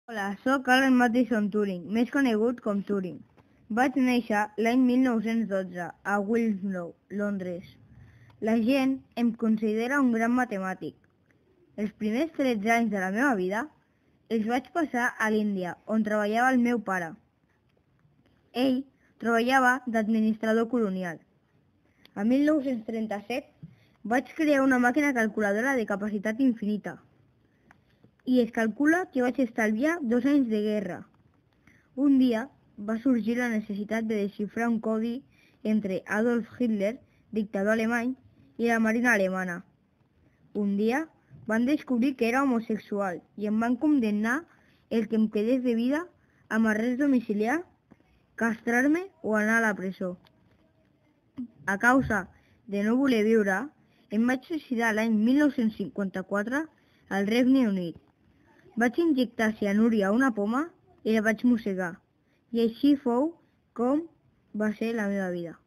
Hola, sóc Alan Matheson Turing, més conegut com Turing. Vaig néixer l'any 1912 a Wilmslow, Londres. La gent em considera un gran matemàtic. Els primers 13 anys de la meva vida els vaig passar a l'Índia, on treballava el meu pare. Ell treballava d'administrador colonial. A 1937 vaig crear una màquina calculadora de capacitat infinita i es calcula que vaig estalviar 2 anys de guerra. Un dia va sorgir la necessitat de desxifrar un codi entre Adolf Hitler, dictador alemany, i la marina alemana. Un dia van descobrir que era homosexual i em van condemnar el que em quedés de vida amb arrest domiciliar, castrar-me o anar a la presó. A causa de no voler viure, em vaig suïcidar l'any 1954 al Regne Unit. Vaig injectar cianuri a una poma i la vaig mossegar. I així fou com va ser la meva vida.